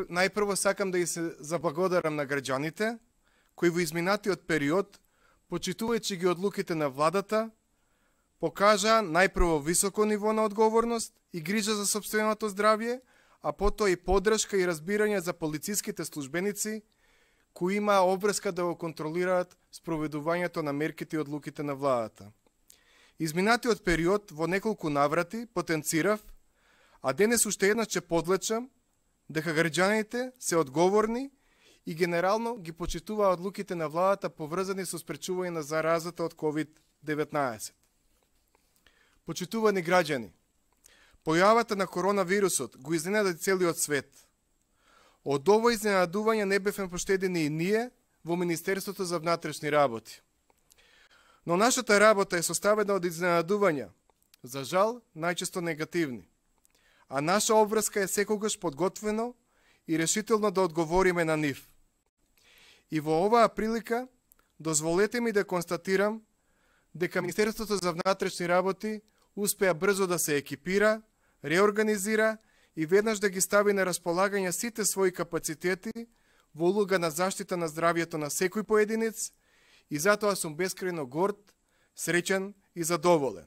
Најпрво сакам да и се заблагодарам на граѓаните кои во изминатиот период, почитувајќи ги одлуките на владата, покажа најпрво високо ниво на одговорност и грижа за сопственото здравје, а потоа и поддршка и разбирање за полициските службеници кои имаа обврска да го контролираат спроведувањето на мерките и одлуките на владата. Изминатиот период во неколку наврати потенцирав, а денес уште еднаш ќе подлечам дека граѓаните се одговорни и генерално ги почитуваа одлуките на владата поврзани со спречување на заразата од COVID-19. Почитувани граѓани, појавата на коронавирусот го изненади целиот свет. Од ова изненадување не бевме поштедени и ние во Министерството за внатрешни работи. Но нашата работа е составена од изненадувања, за жал најчесто негативни. А наша обврска е секогаш подготвено и решително да одговориме на нив. И во оваа прилика, дозволете ми да констатирам дека Министерството за внатрешни работи успеа брзо да се екипира, реорганизира и веднаш да ги стави на располагање сите своји капацитети во улога на заштита на здравјето на секој поединец и затоа сум бескрајно горд, среќен и задоволен.